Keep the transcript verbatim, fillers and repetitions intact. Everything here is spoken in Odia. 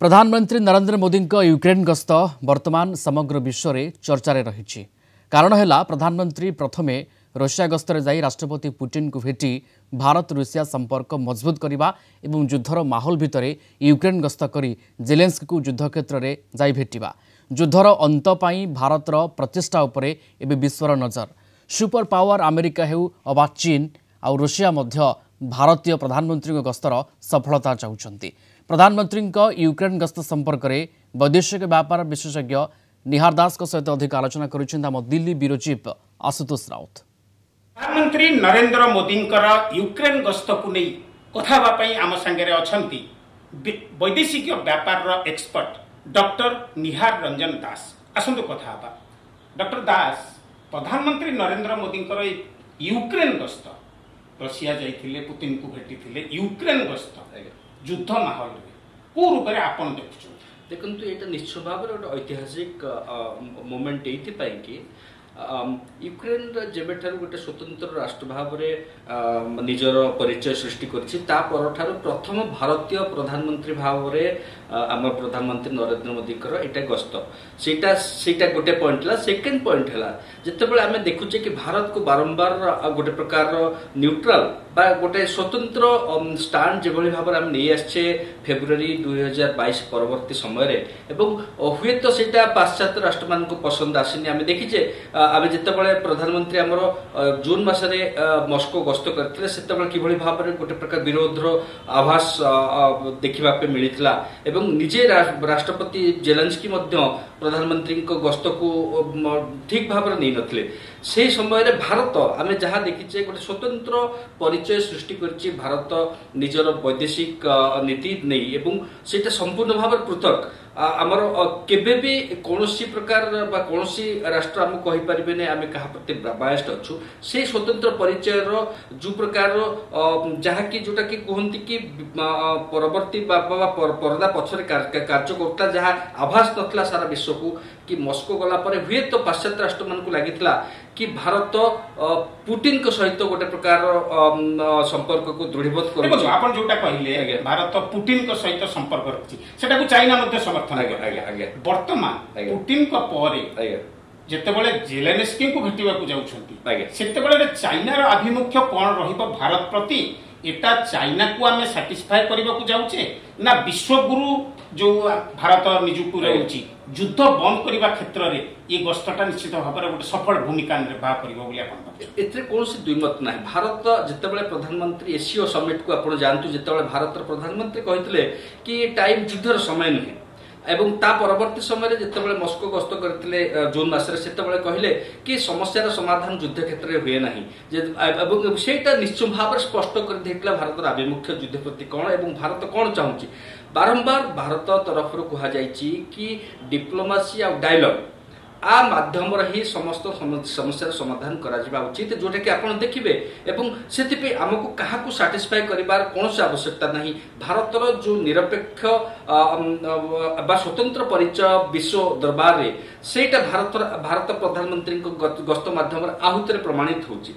ପ୍ରଧାନମନ୍ତ୍ରୀ ନରେନ୍ଦ୍ର ମୋଦିଙ୍କ ୟୁକ୍ରେନ୍ ଗସ୍ତ ବର୍ତ୍ତମାନ ସମଗ୍ର ବିଶ୍ୱରେ ଚର୍ଚ୍ଚାରେ ରହିଛି। କାରଣ ହେଲା, ପ୍ରଧାନମନ୍ତ୍ରୀ ପ୍ରଥମେ ରୁଷିଆ ଗସ୍ତରେ ଯାଇ ରାଷ୍ଟ୍ରପତି ପୁଟିନଙ୍କୁ ଭେଟି ଭାରତ ରୁଷିଆ ସମ୍ପର୍କ ମଜବୁତ କରିବା ଏବଂ ଯୁଦ୍ଧର ମାହୋଲ ଭିତରେ ୟୁକ୍ରେନ୍ ଗସ୍ତ କରି ଜେଲେନ୍ସ୍କିକୁ ଯୁଦ୍ଧ କ୍ଷେତ୍ରରେ ଯାଇ ଭେଟିବା। ଯୁଦ୍ଧର ଅନ୍ତ ପାଇଁ ଭାରତର ପ୍ରଚେଷ୍ଟା ଉପରେ ଏବେ ବିଶ୍ୱର ନଜର। ସୁପର ପାୱାର ଆମେରିକା ହେଉ ଅବା ଚୀନ ଆଉ ରୁଷିଆ ମଧ୍ୟ ଭାରତୀୟ ପ୍ରଧାନମନ୍ତ୍ରୀଙ୍କ ଗସ୍ତର ସଫଳତା ଚାହୁଁଛନ୍ତି। ପ୍ରଧାନମନ୍ତ୍ରୀଙ୍କ ୟୁକ୍ରେନ୍ ଗସ୍ତ ସମ୍ପର୍କରେ ବୈଦେଶିକ ବ୍ୟାପାର ବିଶେଷଜ୍ଞ ନିହାର ଦାସଙ୍କ ସହିତ ଅଧିକ ଆଲୋଚନା କରିଛନ୍ତି ଆମ ଦିଲ୍ଲୀ ବ୍ୟୁରୋ ଚିଫ୍ ଆଶୁତୋଷ ରାଉତ। ପ୍ରଧାନମନ୍ତ୍ରୀ ନରେନ୍ଦ୍ର ମୋଦିଙ୍କର ୟୁକ୍ରେନ୍ ଗସ୍ତକୁ ନେଇ କଥା ହେବା ପାଇଁ ଆମ ସାଙ୍ଗରେ ଅଛନ୍ତି ବୈଦେଶିକ ବ୍ୟାପାରର ଏକ୍ସପର୍ଟ ଡକ୍ଟର ନିହାର ରଞ୍ଜନ ଦାସ। ଆସନ୍ତୁ କଥା ହେବା। ଡକ୍ଟର ଦାସ, ପ୍ରଧାନମନ୍ତ୍ରୀ ନରେନ୍ଦ୍ର ମୋଦିଙ୍କର ୟୁକ୍ରେନ୍ ଗସ୍ତ, ରଷିଆ ଯାଇଥିଲେ, ପୁତିନକୁ ଭେଟିଥିଲେ, ୟୁକ୍ରେନ୍ ଗସ୍ତ ଯୁଦ୍ଧ ମାହୋଲରେ କୋଉ ରୂପରେ ଆପଣ ଦେଖୁଛନ୍ତି? ଦେଖନ୍ତୁ, ଏଇଟା ନିଶ୍ଚୟ ଭାବରେ ଗୋଟେ ଐତିହାସିକ ମୋମେଣ୍ଟ ଏଇଥିପାଇଁ କି ୟୁକ୍ରେନ୍ର ଯେବେଠାରୁ ଗୋଟେ ସ୍ୱତନ୍ତ୍ର ରାଷ୍ଟ୍ର ଭାବରେ ନିଜର ପରିଚୟ ସୃଷ୍ଟି କରିଛି, ତା ପରଠାରୁ ପ୍ରଥମ ଭାରତୀୟ ପ୍ରଧାନମନ୍ତ୍ରୀ ଭାବରେ ଆମ ପ୍ରଧାନମନ୍ତ୍ରୀ ନରେନ୍ଦ୍ର ମୋଦିଙ୍କର ଏଇଟା ଗସ୍ତ। ସେଇଟା ସେଇଟା ଗୋଟେ ପଏଣ୍ଟ ହେଲା। ସେକେଣ୍ଡ ପଏଣ୍ଟ ହେଲା, ଯେତେବେଳେ ଆମେ ଦେଖୁଛେ କି ଭାରତକୁ ବାରମ୍ବାର ଗୋଟେ ପ୍ରକାରର ନ୍ୟୁଟ୍ରାଲ ବା ଗୋଟେ ସ୍ୱତନ୍ତ୍ର ଷ୍ଟାଣ୍ଡ ଯେଭଳି ଭାବରେ ଆମେ ନେଇ ଆସିଛେ ଫେବୃଆରୀ ଦୁଇ ହଜାର ବାଇଶ ପରବର୍ତ୍ତୀ ସମୟରେ, ଏବଂ ହୁଏତ ସେଇଟା ପାଶ୍ଚାତ୍ୟ ରାଷ୍ଟ୍ରମାନଙ୍କୁ ପସନ୍ଦ ଆସିନି। ଆମେ ଦେଖିଛେ, ଆମେ ଯେତେବେଳେ ପ୍ରଧାନମନ୍ତ୍ରୀ ଆମର ଜୁନ୍ ମାସରେ ମସ୍କୋ ଗସ୍ତ କରିଥିଲେ, ସେତେବେଳେ କିଭଳି ଭାବରେ ଗୋଟେ ପ୍ରକାର ବିରୋଧର ଆଭାସ ଦେଖିବା ପାଇଁ ମିଳିଥିଲା ଏବଂ ନିଜେ ରାଷ୍ଟ୍ରପତି ଜେଲେନ୍ସ୍କି ମଧ୍ୟ ପ୍ରଧାନମନ୍ତ୍ରୀଙ୍କ ଗସ୍ତକୁ ଠିକ ଭାବରେ ନେଇନଥିଲେ। ସେହି ସମୟରେ ଭାରତ, ଆମେ ଯାହା ଦେଖିଛେ, ଗୋଟେ ସ୍ୱତନ୍ତ୍ର ପରିଚୟ ସୃଷ୍ଟି କରିଛି ଭାରତ ନିଜର ବୈଦେଶିକ ନୀତି ନେଇ, ଏବଂ ସେଇଟା ସମ୍ପୂର୍ଣ୍ଣ ଭାବରେ ପୃଥକ। ଆମର କେବେ ବି କୌଣସି ପ୍ରକାର ବା କୌଣସି ରାଷ୍ଟ୍ର ଆମକୁ କହିପାରିବେନି ଆମେ କାହା ପ୍ରତି ବାୟସ୍ଡ ଅଛୁ। ସେଇ ସ୍ୱତନ୍ତ୍ର ପରିଚୟର ଯୋଉ ପ୍ରକାରର ଯାହାକି ଯୋଉଟାକି କୁହନ୍ତି କି ପରବର୍ତ୍ତୀ ବା ପରଦା ପଛରେ କାର୍ଯ୍ୟ କରୁଥିଲା, ଯାହା ଆଭାସ ନଥିଲା ସାରା ବିଶ୍ୱକୁ କି ମସ୍କୋ ଗଲା ପରେ ହୁଏତ ପାଶ୍ଚାତ୍ୟ ରାଷ୍ଟ୍ରମାନଙ୍କୁ ଲାଗିଥିଲା କି ଭାରତ ପୁଟିନଙ୍କ ସହିତ ଗୋଟେ ପ୍ରକାର ସମ୍ପର୍କକୁ ଦୃଢୀଭୂତ କରୁଛି। ଆପଣ ଯୋଉଟା କହିଲେ ଭାରତ ପୁଟିନଙ୍କ ସହିତ ସମ୍ପର୍କ ରଖିଛି, ସେଟାକୁ ଚାଇନା ମଧ୍ୟ ସମର୍ଥନ। ବର୍ତ୍ତମାନ ପୁଟିନଙ୍କ ପରେ ଯେତେବେଳେ ଜେଲେନ୍ସ୍କିଙ୍କୁ ଭେଟିବାକୁ ଯାଉଛନ୍ତି, ସେତେବେଳେ ଚାଇନାର ଆଭିମୁଖ୍ୟ କଣ ରହିବ ଭାରତ ପ୍ରତି? ଏଟା ଚାଇନାକୁ ଆମେ ସାଟିସ୍ଫାଏ କରିବାକୁ ଯାଉଛେ ନା ବିଶ୍ୱଗୁରୁ ଯୋଉ ଭାରତ ନିଜକୁ ରହୁଛି, ଯୁଦ୍ଧ ବନ୍ଦ କରିବା କ୍ଷେତ୍ରରେ ଏ ଗସ୍ତଟା ନିଶ୍ଚିତ ଭାବରେ ଗୋଟେ ସଫଳ ଭୂମିକା ନିର୍ବାହ କରିବ ବୋଲି ଆପଣ? ଏଥିରେ କୌଣସି ଦ୍ୱିମତ ନାହିଁ। ଭାରତ ଯେତେବେଳେ ପ୍ରଧାନମନ୍ତ୍ରୀ ଏସିଓ ସମିଟକୁ ଆପଣ ଯାଆନ୍ତୁ, ଯେତେବେଳେ ଭାରତର ପ୍ରଧାନମନ୍ତ୍ରୀ କହିଥିଲେ କି ଟାଇମ୍ ଯୁଦ୍ଧର ସମୟ ନୁହେଁ, ଏବଂ ତା ପରବର୍ତ୍ତୀ ସମୟରେ ଯେତେବେଳେ ମସ୍କୋ ଗସ୍ତ କରିଥିଲେ ଜୁନ୍ ମାସରେ, ସେତେବେଳେ କହିଲେ କି ସମସ୍ୟାର ସମାଧାନ ଯୁଦ୍ଧ କ୍ଷେତ୍ରରେ ହୁଏ ନାହିଁ, ଏବଂ ସେଇଟା ନିଶ୍ଚୟ ଭାବରେ ସ୍ପଷ୍ଟ କରିଦେଇଥିଲା ଭାରତର ଆଭିମୁଖ୍ୟ ଯୁଦ୍ଧ ପ୍ରତି କ'ଣ ଏବଂ ଭାରତ କ'ଣ ଚାହୁଁଛି। ବାରମ୍ବାର ଭାରତ ତରଫରୁ କୁହାଯାଇଛି କି ଡିପ୍ଲୋମାସି ଆଉ ଡାଇଲଗ ଆ ମାଧ୍ୟମରେ ହିଁ ସମସ୍ତ ସମସ୍ୟାର ସମାଧାନ କରାଯିବା ଉଚିତ, ଯୋଉଟାକି ଆପଣ ଦେଖିବେ। ଏବଂ ସେଥିପାଇଁ ଆମକୁ କାହାକୁ ସାଟିସ୍ଫାଏ କରିବାର କୌଣସି ଆବଶ୍ୟକତା ନାହିଁ। ଭାରତର ଯୋଉ ନିରପେକ୍ଷ ବା ସ୍ୱତନ୍ତ୍ର ପରିଚୟ ବିଶ୍ୱ ଦରବାରରେ, ସେଇଟା ଭାରତର ଭାରତ ପ୍ରଧାନମନ୍ତ୍ରୀଙ୍କ ଗସ୍ତ ମାଧ୍ୟମରେ ଆହୁତରେ ପ୍ରମାଣିତ ହେଉଛି।